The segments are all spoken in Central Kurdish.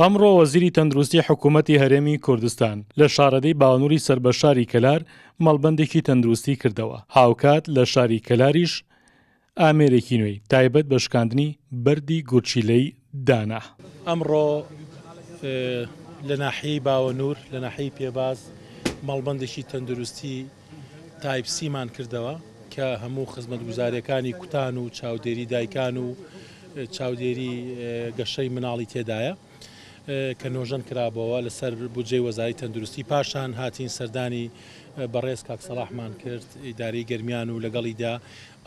ئەمڕۆ وەزیری تەندروستی حکوومەتی هەرێمی کوردستان لە شارەدێی باوەنووری سەر بە شاری کەلار مەڵبەندێکی تەندروستی کردەوە، هاوکات لە شاری کەلاریش ئامێرێکی نوێی تایبەت بە شکاندنی بەردی گورچیلەی دانا. ئەمڕۆ لە ناحیەی باوەنوور لە ناحیەی پێباز مەڵبەندێکی تەندروستی تایپ سیمان کردەوە کە هەموو خزمەتگوزاریەکانی کوتان و چاودێری دایکان و چاودێری گەشەی مناڵی تێدایە کە نۆژەن کرابەوە لەسەر بودجەی وەزاری تەندروستی پاشان هاتین سەردانی بەڕێز کاک سەڵاحمان کرد ئیدارەی گەرمیان و لەگەڵیدا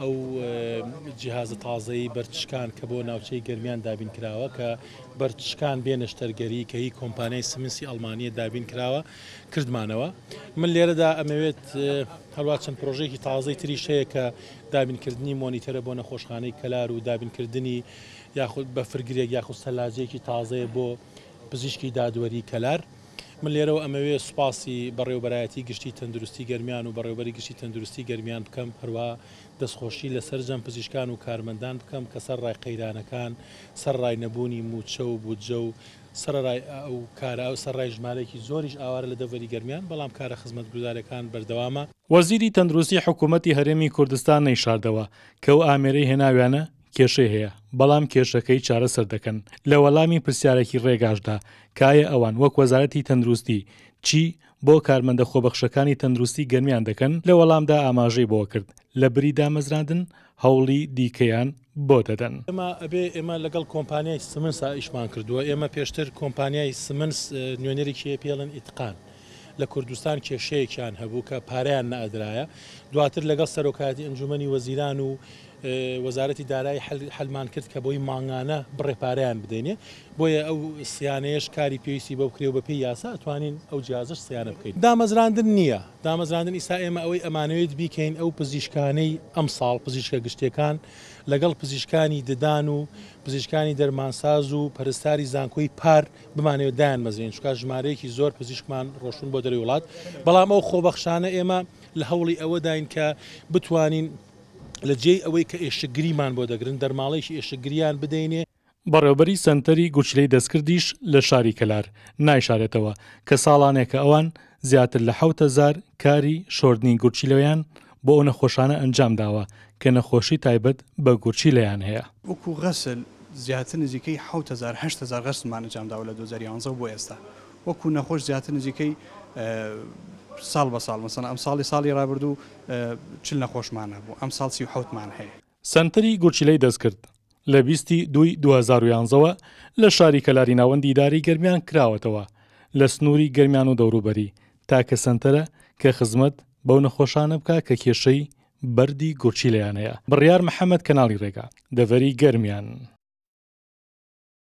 ئەو جیهازە تازەی بەردشکان کە بۆ ناوچەی گەرمیان دابین کراوە کە بەردشکان بێ نەشتەرگەری کە هی کۆمپانیای سمنسی ئەڵمانیە دابین کراوە کردمانەوە من لێرەدا ئەمەوێت هەروە چەند پرۆژەیەکی تازەی تریش هەیە کە دابینکردنی مۆنیتەرە بۆ نەخۆشخانەی کەلار و دابینکردنی یاخود بەفرگرێک یاخود سەلاجەیەکی تازەیە بۆ پزیشکی دادوەری کەلار. من لێرەوە ئەمەوێ سوپاسی بەڕێوەبەرایەتی گشتی تەندروستی گەرمیان و بەڕێوەبەری گشتی تەندروستی گەرمیان بکەم، هەروەها دەستخۆشی لە سەرجەم پزیشکان و کارمەندان بکەم کە سەرڕای قەیرانەکان، سەرڕای نەبوونی مووچە و بودجە و سەرەڕای ئەو کارە، سەرڕای ژمارەیەکی زۆریش ئاوارە لە دەڤەری گەرمیان، بەڵام کارە خزمەتگوزاریەکان بەردەوامە. وەزیری تەندروستی حکوومەتی هەرێمی کوردستان نەیشاردەوە کە ئەو ئامێرەی هێناویانە کێشەی هەیە، بەڵام کێشەکەی چارەسەر دەکەن، لە وەڵامی پرسیارێکی ڕێگاشدا کە ئایا ئەوان وەک وەزارەتی تەندروستی چی بۆ کارمەندە خۆبەخشەکانی تەندروستی گەرمیان دەکەن، لە وەڵامدا ئاماژەی بەوەکرد، لە بری دامەزراندن هەوڵی دیکەیان بۆ دەدەن. ئێمە ئەبێ ئێمە لەگەڵ کۆمپانیای سمنسا ئیشمان کردووە، ئێمە پێشتر کۆمپانیای سمنس نوێنەرێکی هەیە پێی ئەڵێن ئیتقان لە کوردستان کێشەیەکیان هەبوو کە پارەیان نەئەدرایە، دواتر لەگەڵ سەرۆکایەتی ئەنجومەنی وەزیران و وەزارەتی دارایی حەلمان کرد کە بۆی مانگانە بڕێ پارەیان بدەینێ، بۆیە ئەو سیانەیەش کاری پێویستی بۆ بکرێ و بەپێی یاسا ئەتوانین ئەو جیازەش سیانە بکەین. دامەزراندن نییە، دامەزراندن ئیستا ئێمە ئەوەی ئەمانەوێت بیکەین ئەو پزیشکانەی ئەمساڵ پزیشکە گشتیەکان لەگەڵ پزیشکانی ددان و پزیشکانی دەرمانساز و پەرستاری زانکۆی پار بمانەوێت دایانمەزرێنین چونکە ژمارەیەکی زۆر پزیشکمان ڕۆشتوون بۆ دەرەوەی وڵات بەڵام ئەو خۆبەخشانە ئێمە لە هەوڵی ئەوەداین کە بتوانین لە جێی ئەوەی کە ئێشکگریمان بۆ دەگرن دەرماڵەیەکی ئێشکگریان بدەینێ. بەڕێوەبەری سەنتەری گورچیلەی دەستکردیش لە شاری کەلار نایشارێتەوە کە ساڵانێکە ئەوان زیاتر لە 7000 کاری شۆردنی گورچیلەیان بۆ ئەو نەخۆشانە ئەنجامداوە کە نەخۆشی تایبەت بە گورچیلەیان هەیە. وەکو غەسل زیاتر نزیکەی 7000 8000 غەسلمان ئەنجامداوە لە 2011 بۆ ئێستا وەکو نەخۆش زیاتر نزیکەی ساڵ بە ساڵ مەسەلەن ئەمساڵی ساڵی رابردوو 40 نەخۆشمان هەبوو ئەمساڵ 37 مان هەیە. سەنتەری گورچیلەی دەستکرد لە 20 ی دووی 2011 ەوە لە شاری کەلاری ناوەندی ئیدارەی گەرمیان کراوەتەوە لە سنووری گەرمیان و دەوروبەری، تاکە سەنتەرە کە خزمەت بەو نەخۆشانە بکا کە کێشەی بەردی گورچیلەیان هەیە. بڕیار محەمەد کەناڵی ڕێگا، دەڤەری گەرمیان.